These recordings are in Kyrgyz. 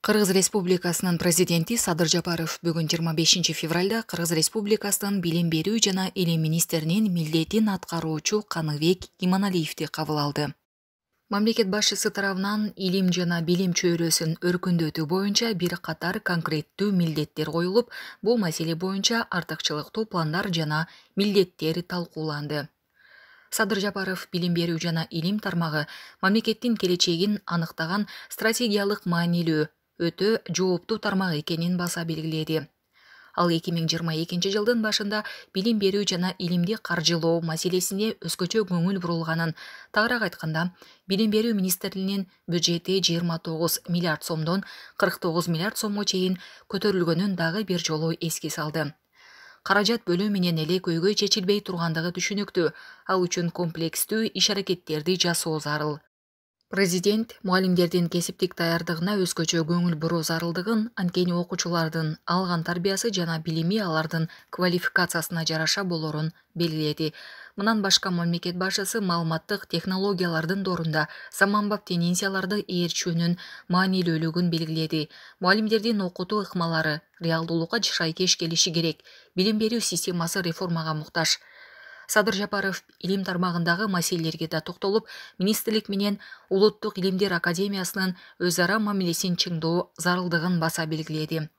Кыргыз Республикасынын президенти Садыр Жапаров бүгүн 25 февралда Кыргыз Республикасынын билим берүү жана илим министринин милдетин аткаруучу Каныбек Иманалиевди кабыл алды. Мамлекет башчысы тарабынан илим жана билим чөйрөсүн өркүндөтүү боюнча бир катар конкреттүү милдеттер коюлуп, бул маселе боюнча артыкчылыктуу пландар жана милдеттер талкууланды. Садыр Жапаров билим берүү жана илим тармагы мамлекеттин келечегин аныктаган стратегиялык маанилүү өтө жооптуу тармак экенин баса белгиледи. Ал 2022 жылдын башында билим берүү жана илимди каржылоо маселесине өзгөчө көңүл бурулганын, тагыраак айтканда, билим берүү министрлигинин бюджети 29 миллиард сомдон 49 миллиард сомго чейин көтөрүлгөнүн дагы бир жолу эске салды. Каражат бөлүү менен эле көйгөй чечилбей тургандыгы түшүнүктүү, ал үчүн комплекстүү иш-аракеттерди жасоо зарыл. Президент мугалимдердин кесиптик даярдыгына өзгөчө көңүл буруу зарылдыгын, анткени окуучулардын алган тарбиясы жана билими алардын квалификациясына жараша болорун белгиледи. Мындан башка мамлекет башчысы маалыматтык технологиялардын доорунда заманбап тенденцияларды ээрчүүнүн маанилүүлүгүн белгиледи. Мугалимдердин окутуу ыкмалары реалдуулукка шайкеш келиши керек. Билим берүү системасы реформага муктаж. Садыр Жапаров илим тармагындагы маселелерге да токтолуп, министрлик менен Улуттук илимдер академиясынын өз ара мамилесин чыңдоо зарылдыгын баса белгиледи.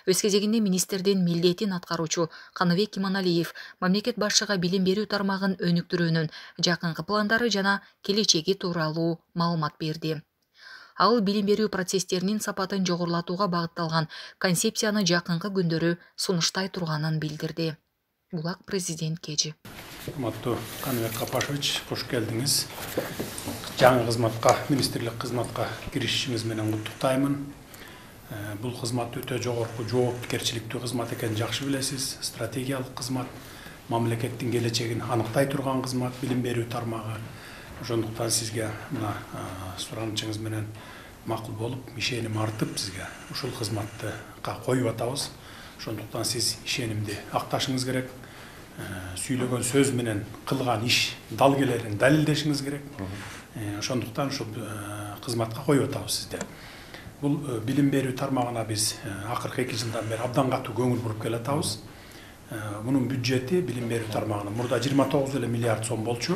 Өз кезегинде министрдин милдетин аткаруучу Каныбек Иманалиев мамлекет башчыга билим берүү тармагын өнүктүрүүнүн жакынкы пландары жана келечеги тууралуу маалымат берди. Ал билим берүү процесстеринин сапатын жогорулатууга багытталган концепцияны жакынкы күндөрү сунуштай турганын билдирди. Булак президент кежи. Урматтуу Каныбек Капашевич, кош келдиңиз. Жаңы кызматка, министрлик кызматка киришишиңиз менен куттуктаймын. Бул кызмат өтө жогорку жоопкерчиликтүү кызмат экенин жакшы билесиз. Стратегиялык кызмат, мамлекеттин келечегин аныктай турган кызмат, билим берүү тармагы. Ошондуктан сизге мына суранычыңыз менен макул болуп, ишеним артып сизге ушул кызматты коюп атабыз. Ошондуктан сиз ишенимди акташыңыз керек. Сүйлөгөн сөз менен кылган иш далгелерин далилдешиңиз керек. Ошондуктан ушул кызматка коюп атабыз сизди. Бул билим берүү тармагына биз акыркы 2 жылдан бери абдан катуу көңүл буруп келатабыз. Мунун бюджети билим берүү тармагына мурда 29 миллиард сом болчу.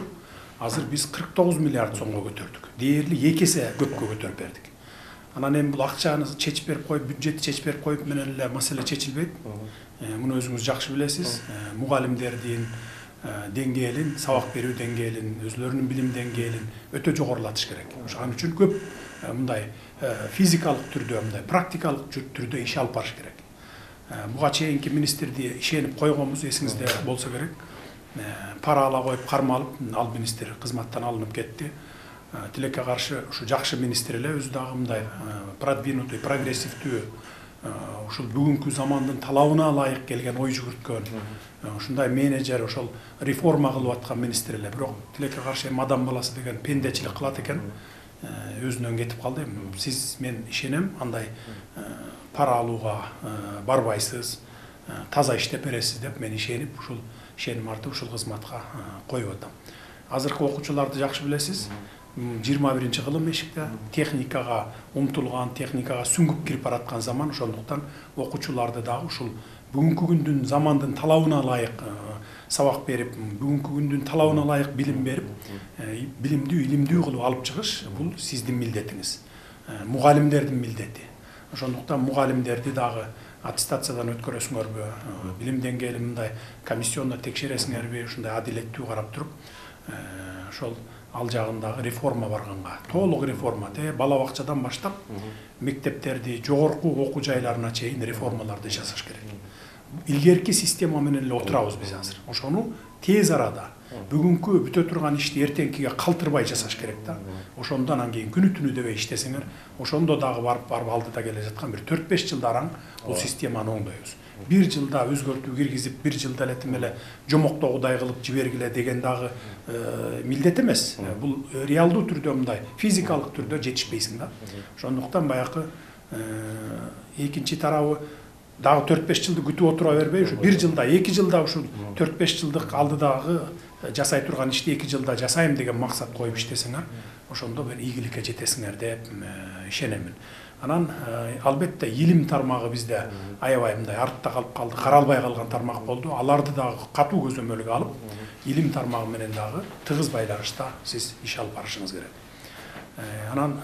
Азыр биз 49 миллиард сомго көтөрдүк. Дээрлик 2 эсе көпкө көтөрүп бердик. Анан эми бул акчаны чечип берип коюп, бюджетти чечип берип коюп менен эле маселе чечилбейт. Муну өзүңүз жакшы билесиз. Мугалимдердин деңгээлин, сабак берүү деңгээлин, өзлөрүнүн билим деңгээлин өтө жогорулатыш керек. Ошон үчүн көп мындай физикалык түрдө, мындай практикалык түрдө иш алып барыш керек. Буга чейинки министрди ишенип койгонбуз, эсиңизде болсо керек. Пара ала коюп кармалып, ал министр кызматтан алынып кетти. Тилекке каршы ушу жакшы министр эле өзү дагы мындай продвинутый, прогрессивдүү, ушул бүгүнкү замандын талабына ылайык келген ой жүгүрткөн, ушундай менеджер, ошол реформа кылып аткан министр эле. Бирок тилекке каршы эми адам баласы деген пендечилик кылат экен. Өзүнөн кетип калды. Сиз мен ишенем, андай пара алууга барбайсыз, таза иштеп бересиз деп мен ишенип, ушул ишеним артып ушул кызматка коюп атам. Азыркы окуучуларды жакшы билесиз. 21-кылым эшикте техникага умтулган, техникага сүңгүп кирип бараткан заман. Ошондуктан окуучуларды дагы ушул бүгүнкү күндүн замандын талабына ылайык сабак берип, бүгүнкү күндүн талабына ылайык билим берип, билимдүү, илимдүү кылып алып чыгыш бул сиздин милдетиңиз. Мугалимдердин милдети. Ошондуктан мугалимдерди дагы аттестациядан өткөрөсүңөрбү, билим деңгээлин мындай комиссиондо текшересиңерби, ушундай адилеттүү карап туруп, ошол ал жагындагы реформа барганга, толук реформа, бала бакчадан баштап мектептерди, жогорку окуу жайларына чейин реформаларды жасаш керек. Илгерки система менен эле отурабыз биз азыр. Ошону тез арада бүгүнкү бүтө турган ишти эртеңкиге калтырбай жасаш керек да. Ошондон анан кийин күнү түнү дебей иштесеңер, ошондо дагы барып алдыда келе жаткан бир 4-5 жылда араң бул системаны оңдойбуз. 1 жылда өзгөртүү киргизип, 1 жылда эле тим эле жомоктогудай кылып жибергиле деген дагы милдет эмес. Бул реалдуу түрдө мындай физикалык түрдө жетишпейсиң да. Ошондуктан баягы экинчи тарабы дагы 4-5 жылды күтүп отура бербей, ушу 1 жылда, 2 жылда ушу 4-5 жылдык алдыдагы жасай турган ишти 2 жылда жасайм деген максат коюп иштесеңер, ошондо бир ийгиликке жетесиңер деп ишенемин. Анан албетте илим тармагы бизде аябай мындай артта калып калды, каралбай калган тармак болду. Аларды дагы катуу көзөмөлгө алып, илим тармагы менен дагы тыгыз байланышта сиз иш алып барышыңыз керек. Анан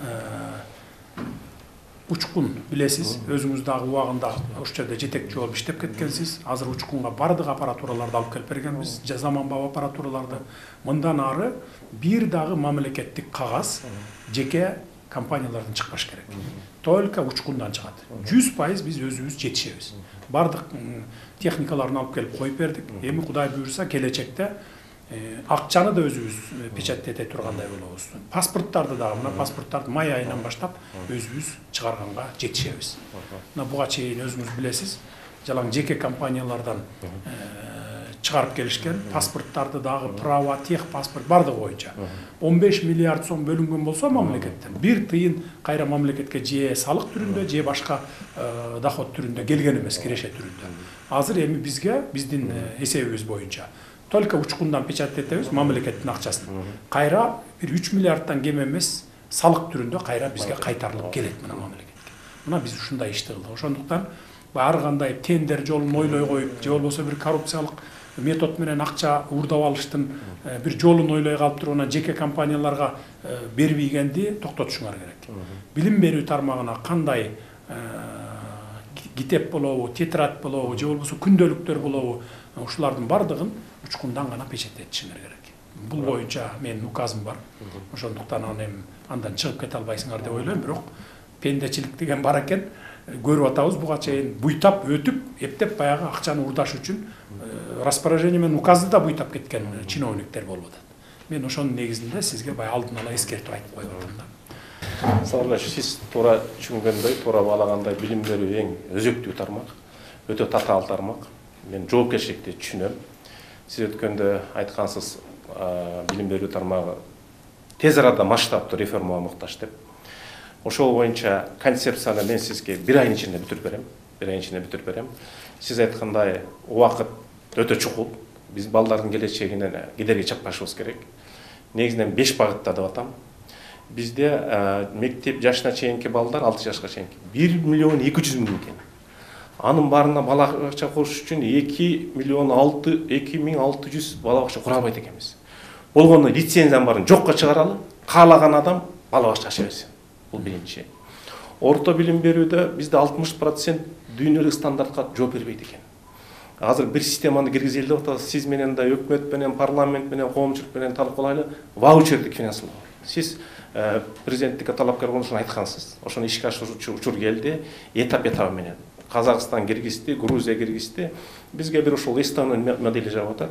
учкун билесиз, өзүңүз дагы убагында ошол жерде жетекчи болуп иштеп кеткенсиз. Азыр учкунга бардык аппаратураларды алып келип бергенбиз, заманбап аппаратураларды. Мындан ары бир дагы мамлекеттик кагаз жеке компаниялардан чыкпаш керек. Только учкундан чыгат. 100% биз өзүбүз жетишебиз. Бардык техникаларын алып келип коюп бердик. Эми Кудай буйрса келечекте акчаны да өзүбүз печаттете тургандай болобуз. Паспорттарды дагы, мына паспорттарды май айынан баштап өзүбүз чыгарганга жетишебиз. Мына буга чейин өзүңүз билесиз, жалаң жеке компаниялардан чыгарып келишкен паспорттарды дагы права, тех паспорт бардыгы боюнча 15 миллиард сом бөлүнгөн болсо мамлекеттен бир тыйын кайра мамлекетке же салык түрүндө, же башка доход түрүндө келген эмес, киреше түрүндө. Азыр эми бизге биздин эсебибиз боюнча только учкундан печаттетебиз мамлекеттин акчасын. Кайра бир 3 миллиарддан кем эмес салык түрүндө кайра бизге кайтарылып келет мына мамлекетке. Мына биз ушундай ишти кылдык. Ошондуктан ар кандай тендер жолун ойлой коюп, же болбосо бир коррупциялык метод менен акча уурдап алыштын бир жолун ойлой калып туруп анан жеке компанияларга бербегенди токтотушуңар керек. Билим берүү тармагына кандай китеп болобу, тетрадь болобу, же болбосо күндөлүктөр болобу, ушулардын бардыгын учкундан гана печаттетишиңер керек. Бул боюнча менин указым бар. Ошондуктан андан чыгып кете албайсыңар деп ойлойм, бирок пендечилик деген бар экен. Көрүп атабыз буга чейин буйтап өтүп, эптеп баягы акчаны уурдаш үчүн распоряжение менен указды да буйтап кеткен чиновниктер болуп атат. Мен ошонун негизинде сизге баягы алдын ала эскертип айтып коюп атам да. Саламат, сиз туура түшүнгөндөй, туура баалагандай билим берүү эң өзөктүү тармак, өтө татаал тармак. Мен жоопкерчиликти түшүнөм. Сиз өткөндө айткансыз, билим берүү тармагы тез арада масштабтуу реформага муктаж деп. Ошол боюнча концепцияны мен сизге 1 айдын ичинде бүтүрүп берем. Сиз айткандай убакыт өтө чукул. Биз балдардын келечегинен кедерги чаппашыбыз керек. Негизинен 5 багытта деп атам. Бизде мектеп жашына чейинки балдар 6 жашка чейинки 1 миллион 200 миң экен. Анын баарына бала бакча куруш үчүн 2 миллион 2600 бала бакча кура албайт экенбиз. Болгондо лицензиянын баарын жокко чыгаралы, каалаган адам бала бакча аша берсин. Бул биринчи. Орто билим берүүдө бизде 60% дүйнөлүк стандартка жооп бербейт экен. Азыр бир системаны киргизели деп атабыз. Сиз менен да өкмөт менен, парламент менен, коомчулук менен талкуулайлы ваучердик финансылоо. Сиз президенттикке талапкер болушун айткансыз. Ошону ишке ашыруучу учур келди, этап менен. Казакстан киргизди, Грузия киргизди. Бизге бир ошол Эстония модели жагып атат.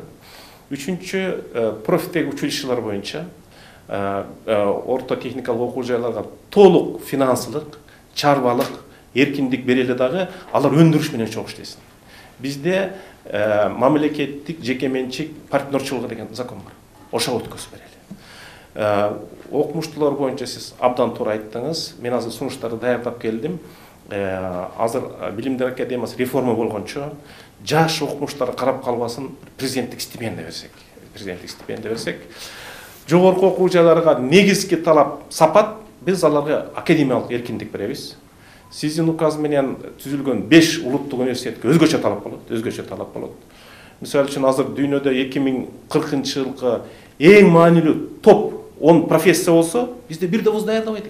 Үчүнчү, профиттеги училищелер боюнча орто техникалык окуу жайларга толук финансылык, чарбалык, эркиндик берели дагы алар өндүрүш менен чогуу иштесин. Бизде мамлекеттик жекеменчик партнерчилыгы деген закон бар. Ошого өткөзүп берели. Окумуштуулар боюнча сиз абдан туура айттыңыз. Мен азыр сунуштарды даярдап келдим. Азыр Билимдер академиясы реформа болгончо жаш окумуштар карап калбасын, президенттик стипендия берсек. Жогорку окуу жайларга негизги талап сапат, биз аларга академиялык эркиндик беребиз. Сиздин указ менен түзүлгөн 5 улуттук университетке өзгөчө талап болот. Мисалы үчүн азыр дүйнөдө 2040 жылкы эң маанилүү топ 10 профессия болсо, бизде бир да вуз даярдабайт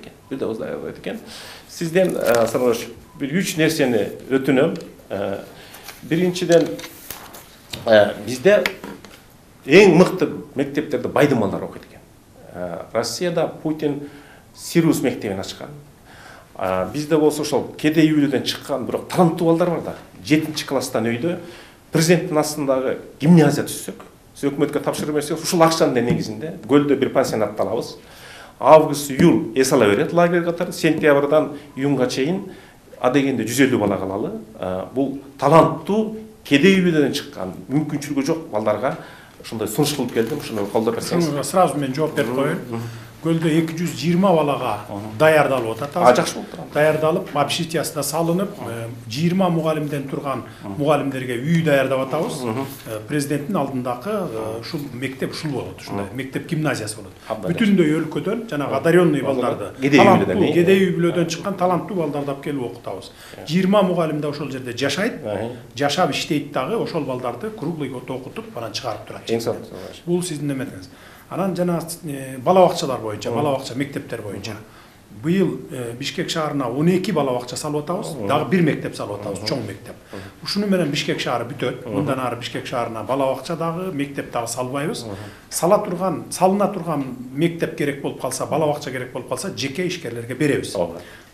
экен. Сизден Сарбаш бир 3 нерсени өтүнөм. Биринчиден, бизде эң мыкты мектептерде байдын балдары окуйт экен. Россияда Путин Сириус мектебин ачкан. Бизде болсо ошол кедей үйлөдөн чыккан бирок таланттуу балдар бар да. 7-чи класстан өйдө президенттин астындагы гимназия түзсөк, өкмөткө тапшырып берсек, ушул акчанын негизинде көлдө бир пансионатты алабыз. Август, июль эс ала берет лагерь катары, сентябрдан июнга чейин адегенде 150 бала калалы. Бул таланттуу кедей үйлөдөн чыккан, мүмкүнчүлүгү жок балдарга ошондой сунуш кылып келдим, ошону колдоп берсеңиз. Сразу мен жооп берип коеюн. көлдө 220 балага даярдалып атат. Жакшы болуп турат. Даярдалып, общежитиясына салынып, 20 мугалимден турган мугалимдерге үй даярдап атабыз. Президенттин алдындагы ушул мектеп ушул болот, ушундай мектеп гимназиясы болот. Бүтүндөй өлкөдөн жанагы одаренный балдарды, таланттуу, кедей үй бүлөдөн чыккан таланттуу балдарды алып келип окутабыз. 20 мугалим да ошол жерде жашайт, жашап иштейт дагы, ошол балдарды круглый окутуп, анан чыгарып турат. Бул сиздин эметиңиз. Анан жана бала бакчалар боюнча, бала бакча мектептер боюнча быйыл Бишкек шаарына 12 бала бакча салып атабыз, дагы бир мектеп салып атабыз, чоң мектеп. Ушуну менен Бишкек шаары бүтөт. Мындан ары Бишкек шаарына бала бакча дагы, мектеп дагы салбайбыз. Салына турган мектеп керек болуп калса, бала бакча керек болуп калса, жеке ишкерлерге беребиз.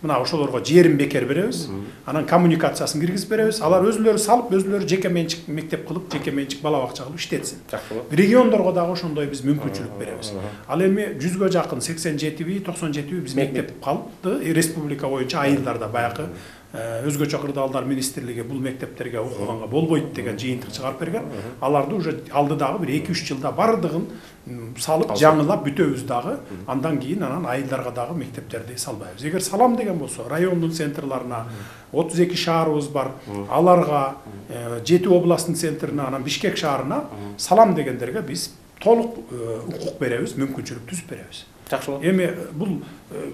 Мына ошолорго жерин бекер беребиз, анан коммуникациясын киргизип беребиз. Алар өзүлөрү салып, өзүлөрү жеке менчик мектеп кылып, жеке менчик бала бакча кылып иштетсин. Региондорго дагы ошондой биз мүмкүнчүлүк беребиз. Ал эми 100гө жакын 87 97 биз мектеп калды. Республика боюнча айылдарда баягы өзгөчө кырдаалдар министрлиги бул мектептерге окуганга болбойт деген жыйынтык чыгарып берген. Аларды уже алдыдагы бир 2-3 жылда бардыгын салып, жаңылап бүтөбүз дагы. Андан кийин анан айылдарга дагы мектептерди салбайбыз. Эгер салам деген болсо, райондун центрларына 32 шаарыбыз бар, аларга 7 областтын центрине, анан Бишкек шаарына салам дегендерге биз толук укук беребиз, мүмкүнчүлүк түзүп беребиз. Жакшы болот. Эми бул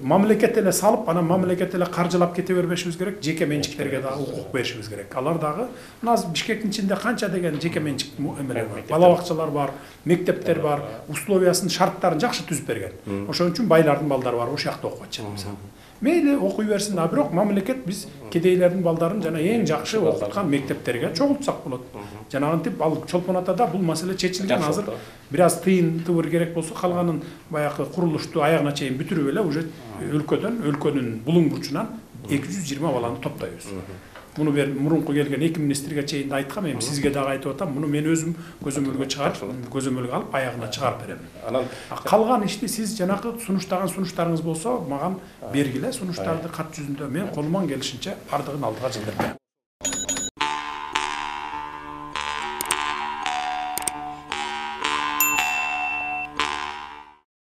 мамлекет эле салып, анан мамлекет эле каржылап кете бербешибиз керек, жеке менчиктерге дагы укук беришибиз керек. Алар дагы мына Бишкектин ичинде канча деген жеке менчик эмелер бар, бала бакчалар бар, мектептер бар, условиясын, шарттарын жакшы түзүп берген. Ошон үчүн байлардын балдары бар, ошол жакта окуп атышат мисалы. Мейли окуй берсин, а бирок мамлекет биз кедейлердин балдарын жана эң жакшы окуткан мектептерге чогултсак болот. Жанагынтип ал Чолпон Атада бул маселе чечилген. Азыр бир аз тыйын-тыбыр керек болсо, калганын баягы курулушту аягына чейин бүтүрүп эле уже өлкөнүн булуң бурчунан 220 баланы топтойбуз. Муну мурунку келген 2 министрге чейин да айткам, эми сизге дагы айтып атам, муну мен өзүм көзөмөлгө чыгарып, көзөмөлгө алып аягына чыгарып берем. Анан калган ишти сиз жанакы сунуштаган сунуштарыңыз болсо мага бергиле, сунуштарды кат жүзүндө мен колуман келишинче бардыгын алдыга жылдырып берем.